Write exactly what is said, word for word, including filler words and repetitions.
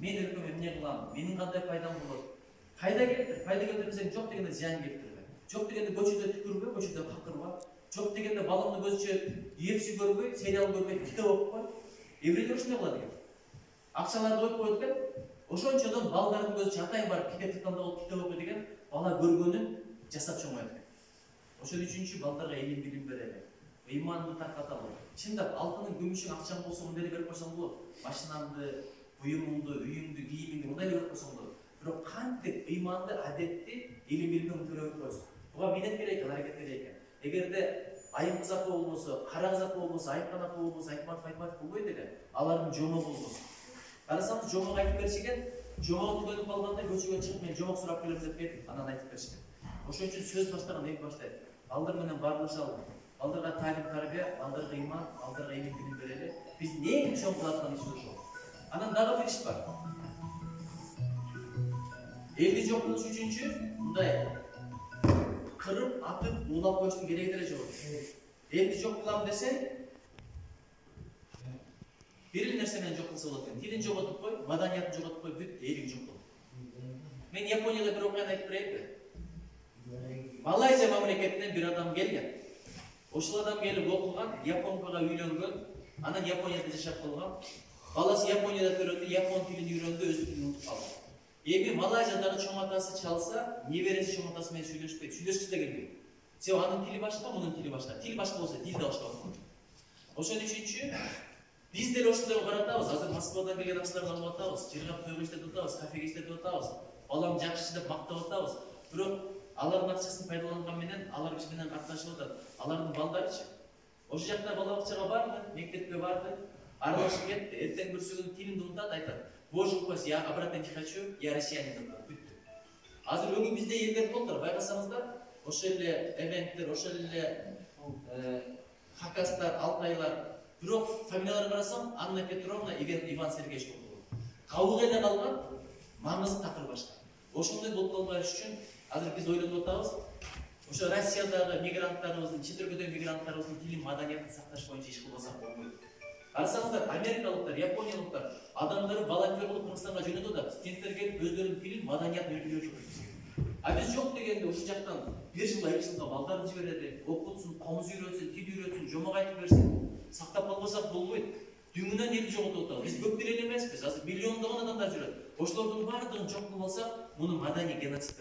мен өлкөм эмне кылам, менин кандай пайдам болот? Пайда келтир, пайда келтирсең жок дегенде зыян келтирбе. Жок дегенде көчөдө түкүрбө, көчөдө какырба. Жок дегенде балаңды көзүчө ефси көрбөй, сериал көрбөй, китеп окупкой. Еврейлер ушундай кылат экен. Акчаларды коюп коет экен. Ошончодон балдардын көзүчө атайын барып китепти тандап китеп окуй деген бала көргөнүн жасап чоңойт экен. Ошон үчүнчү балдарга илим билим берели. Ыйманды таркаталы. Чындап алтының, күмүшүң, акчаң болсо мындай берип койсоң болот. Машинаңды, буюмуңду, үйүңдү, кийимиңди мындай берип койсоң болот. Бирок кантип ыйманды, адетти илим билимди төлөп койсоң. Буга минет керек, аракет керек. Эгерде айым кызапы болбосо, кара кызапы болбосо, айыпкан апы болбосо, айтматов айтматов болбойт экен. Алардын жомогу болбосо. Карасаңыз жомок айтып беришкен, жомогу түгөнүп калганда көчөгө чыгып мен жомок сурап келем деп кетип, анан айтып беришкен. Ошон үчүн сөз баштаган эки баштайт. Балдар менен баарлашалы. Балдарга талим тарбия, балдарга ыйман, балдарга илим билим берели. Биз эң чоң кылаткан иш ошол. Анан дагы бир иш бар. Элди жок кылыш үчүнчү мындай кырып, атып, уулап коюштун кереги деле жок. Элди жок кылам десең, бир эле нерсе менен жок кылса болот экен. Тилин жоготуп кой, маданиятын жоготуп кой, бүт элиң жок болот. Мен Японияда бир окуяны айтып берейинби? Малайзия мамлекетинен бир адам келген. Ошол адам келип окуган, японкага үйлөнгөн, анан Японияда жашап калган. Баласы Японияда төрөндү, япон тилин үйрөндү, өз тилин унутуп калды. Эми Малайзиядагы чоң атасы чалса, небереси чоң атасы менен сүйлөшпөйт, сүйлөшкүсү да келбейт. Себеби анын тили башка, мунун тили башка. Тил башка болсо, тил да башка болот. Ошон үчүнчү биз деле ошондой каратабыз. Азыр Москвадан келген акчаларды алып атабыз, жыргап тойго иштетип атабыз, кафеге иштетип атабыз. Балам жакшы деп мактап атабыз. Бирок алардын акчасын пайдаланган менен алар биз менен катташып атат. Алардын балдарычы. Ошол жакта бала бакчага барды, мектепке барды, аралашып кетти. Эртең бүрсүгүн тилинди унутат, айтат. Боже упаси, я обратно не хочу, я россиянин деп бүттү. Азыр бүгүн бизде элдер болдур, байкасаңыздар, ошол эле эвенттер, ошол эле хакастар, алтайлар. Бирок фамилияларын карасам, Анна Петровна, Иван Сергеевич болду. Кабылгайда калган маңызды такыр башка. Ошондой болуп калбаш үчүн азыр биз ойлонуп атабыз. Ошо Россиядагы мигранттарыбыздын, чет өлкөдөгү мигранттарыбыздын тилин, маданиятын сакташ боюнча иш кылбасак болбойт. Карасаңыздар, америкалыктар, япониялыктар адамдары волонтер болуп Кыргызстанга жөнөтүп атат. Студенттер келип өздөрүнүн тилин, маданиятын үйрөтүп атат. А биз жок дегенде ушул жактан бир жылга, эки жылга балдарды жиберели, окутсун, комуз үйрөтсүн, тил үйрөтсүн, жомок айтып берсин. Сактап калбасак болбойт. Дүңүнөн элди жоготуп атабыз. Биз көп деле эмеспиз. Азыр миллиондогон адамдар жүрөт. Ошолордун баардыгын жок кылып алсак, муну маданий геноцид